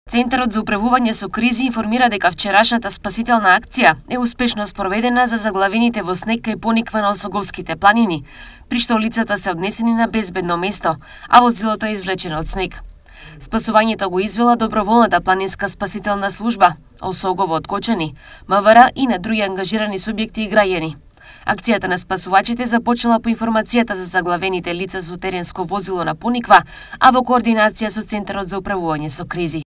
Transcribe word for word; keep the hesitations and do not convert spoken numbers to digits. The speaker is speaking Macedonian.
Центарот за управување со кризи информира дека вчерашната спасителна акција е успешно спроведена за заглавените во снег кај Пониква на Осоговските планини, при што лицата се однесени на безбедно место, а возилото е извлечено од снег. Спасувањето го извела доброволната планинска спасителна служба, Осогово од Кочани, МВР и на други ангажирани субјекти и граѓани. Акцијата на спасувачите започнала по информацијата за заглавените лица со теренско возило на Пониква, а во координација со Центарот за управување со кризи.